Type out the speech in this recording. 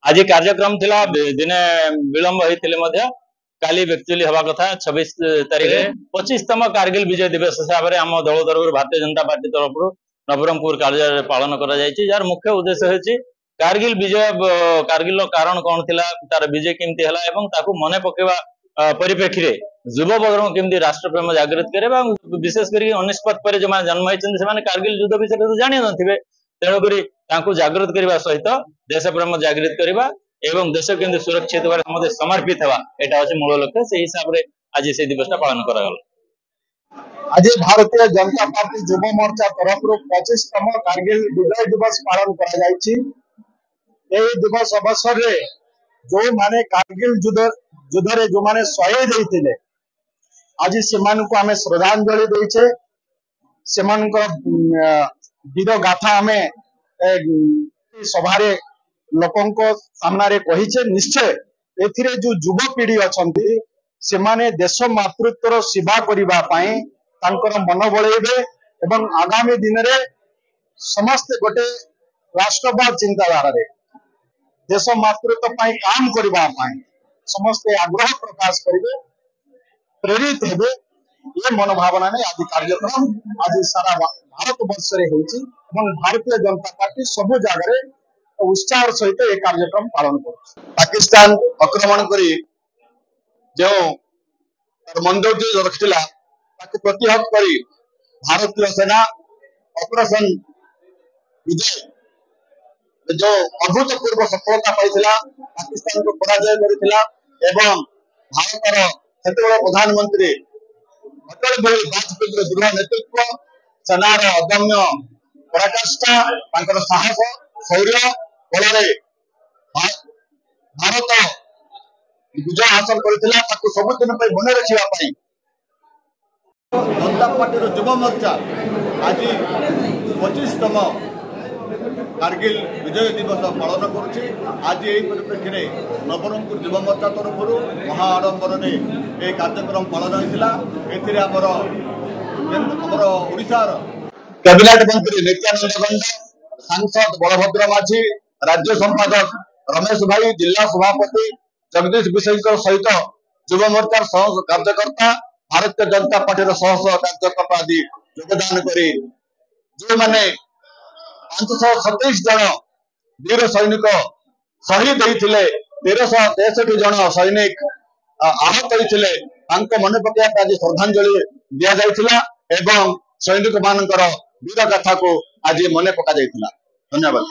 ଆଜି କାର୍ଯ୍ୟକ୍ରମ ଥିଲା, ଦିନେ ବିଳମ୍ବ ହେଇଥିଲେ ମଧ୍ୟ କାଲି ଆକ୍ଚୁଆଲି ହେବା କଥା 26 ତାରିଖରେ। 25ତମ କାର୍ଗିଲ ବିଜୟ ଦିବସ ହିସାବରେ ଆମ ଦଳ ତରଫରୁ, ଭାରତୀୟ ଜନତା ପାର୍ଟି ତରଫରୁ ନବରଙ୍ଗପୁର କାର୍ଯ୍ୟାଳୟରେ ପାଳନ କରାଯାଇଛି, ଯାହାର ମୁଖ୍ୟ ଉଦ୍ଦେଶ୍ୟ ହେଉଛି କାର୍ଗିଲ ବିଜୟ, କାର୍ଗିଲର କାରଣ କଣ ଥିଲା, ତାର ବିଜୟ କେମିତି ହେଲା ଏବଂ ତାକୁ ମନେ ପକେଇବା ପରିପ୍ରେକ୍ଷୀରେ ଯୁବବର୍ଗଙ୍କୁ କେମିତି ରାଷ୍ଟ୍ରପ୍ରେମ ଜାଗୃତ କରିବା ଏବଂ ବିଶେଷ କରିକି 99 ପରେ ଯୋଉମାନେ ଜନ୍ମ ହେଇଛନ୍ତି, ସେମାନେ କାର୍ଗିଲ ଯୁଦ୍ଧ ବିଷୟରେ ତ ଜାଣିନଥିବେ। ତେଣୁକରି ତାଙ୍କୁ ଜାଗୃତ କରିବା ସହିତ ଦେଶ ପ୍ରେମ ଜାଗୃତ କରିବା ଏବଂ ଦେଶ କେମିତି ସୁରକ୍ଷିତ ଭାବରେ ସମସ୍ତେ ସମର୍ପିତ ହେବା, ଏଇଟା ହଉଛି ମୂଳ ଲକ୍ଷ୍ୟ। ସେଇ ହିସାବରେ ଆଜି ସେଇ ଦିବସଟା ପାଳନ କରାଗଲା। ଆଜି ଭାରତୀୟ ଜନତା ପାର୍ଟି ଯୁବ ମୋର୍ଚ୍ଚା ତରଫରୁ 25ତମ କାର୍ଗିଲ ବିଜୟ ଦିବସ ପାଳନ କରାଯାଇଛି। ଏହି ଦିବସ ଅବସରରେ ଯୋଉମାନେ କାର୍ଗିଲ ଯୁଦ୍ଧରେ ଯୋଉମାନେ ଶହୀଦ ହେଇଥିଲେ, ଆଜି ସେମାନଙ୍କୁ ଆମେ ଶ୍ରଦ୍ଧାଞ୍ଜଳି ଦେଇଛେ। ସେମାନଙ୍କର ବୀର ଗାଥା ଆମେ ସଭାରେ ଲୋକଙ୍କ ସାମ୍ନାରେ କହିଛେ। ନିଶ୍ଚୟ ଏଥିରେ ଯୋଉ ଯୁବପିଢି ଅଛନ୍ତି, ସେମାନେ ଦେଶ ମାତୃତ୍ୱର ସେବା କରିବା ପାଇଁ ତାଙ୍କର ମନ ବଳେଇବେ ଏବଂ ଆଗାମୀ ଦିନରେ ସମସ୍ତେ ଗୋଟେ ରାଷ୍ଟ୍ରବାଦ ଚିନ୍ତାଧାରାରେ ଦେଶ ମାତୃତ୍ୱ ପାଇଁ କାମ କରିବା ପାଇଁ ସମସ୍ତେ ଆଗ୍ରହ ପ୍ରକାଶ କରିବେ, ପ୍ରେରିତ ହେବେ। ଏ ମନୋଭାବନା ନେଇ ଆଜି କାର୍ଯ୍ୟକ୍ରମ ଆଜି ସାରା ଭାରତ ବର୍ଷରେ ହେଉଛି ଏବଂ ଭାରତୀୟ ଜନତା ପାର୍ଟି ସବୁ ଜାଗାରେ ଉତ୍ସାହର ସହିତ ଏ କାର୍ଯ୍ୟକ୍ରମ ପାଳନ କରୁଛି। ପାକିସ୍ତାନ ଆକ୍ରମଣ କରି ଯେଉଁ ତାର ମନ୍ଦୌର୍ଯ୍ୟ ରଖିଥିଲା, ତାକୁ ପ୍ରତିହତ କରି ଭାରତୀୟ ସେନା ଅପରେସନ ବିଜୟ ଯୋଉ ଅଭୂତପୂର୍ବ ସଫଳତା ପାଇଥିଲା, ପାକିସ୍ତାନକୁ ପରାଜୟ କରିଥିଲା ଏବଂ ଭାରତର ସେତେବେଳେ ପ୍ରଧାନମନ୍ତ୍ରୀ ଅଟଳ ବିହାରୀ ବାଜପେୟୀଙ୍କର ଦୃଢ ନେତୃତ୍ୱ, ସେନାର ଅଦମ୍ୟ ପରାକାଷ୍ଠା, ତାଙ୍କର ସାହସ ଶୌର୍ଯ୍ୟ ବଳରେ ଭାରତ ବିଜୟ ହାସଲ କରିଥିଲା। ତାକୁ ସବୁଦିନ ପାଇଁ ମନେ ରଖିବା ପାଇଁ ଜନତା ପାର୍ଟିର ଯୁବ ମୋର୍ଚ୍ଚା ଆଜି 25ତମ କାର୍ଗିଲ ବିଜୟ ଦିବସ ପାଳନ କରୁଛି। ଆଜି ଏହି ପରିପ୍ରେକ୍ଷୀରେ ନବରଙ୍ଗପୁର ଯୁବ ମୋର୍ଚ୍ଚା ତରଫରୁ ମହା ଆଡ଼ମ୍ବରରେ ଏହି କାର୍ଯ୍ୟକ୍ରମ ପାଳନ ହୋଇଥିଲା। ଏଥିରେ ଆମର ଓଡ଼ିଶାର କ୍ୟାବିନେଟ ମନ୍ତ୍ରୀ ନିତ୍ୟାନନ୍ଦ ଗଣ୍ଡ, ସାଂସଦ ବଳଭଦ୍ର ମାଝୀ, ରାଜ୍ୟ ସମ୍ପାଦକ ରମେଶ ଭାଇ, ଜିଲ୍ଲା ସଭାପତି ଜଗଦୀଶ ବିଷୟଙ୍କ ସହିତ ଯୁବ ମୋର୍ଚ୍ଚାର ସହ କାର୍ଯ୍ୟକର୍ତ୍ତା, ଭାରତୀୟ ଜନତା ପାର୍ଟିର ଶହ ଶହ କାର୍ଯ୍ୟକର୍ତ୍ତା ଆଦି ଯୋଗଦାନ କରି ଯେଉଁମାନେ 527 ଜଣ ବୀର ସୈନିକ ଶହୀଦ ହେଇଥିଲେ, 1363 ଜଣ ସୈନିକ ଆହତ ହୋଇଥିଲେ, ତାଙ୍କ ମନେ ପକେଇବା ପାଇଁ ଆଜି ଶ୍ରଦ୍ଧାଞ୍ଜଳି ଦିଆଯାଇଥିଲା ଏବଂ ସୈନିକ ମାନଙ୍କର ବୀର ଗାଥାକୁ ଆଜି ମନେ ପକାଯାଇଥିଲା। ଧନ୍ୟବାଦ।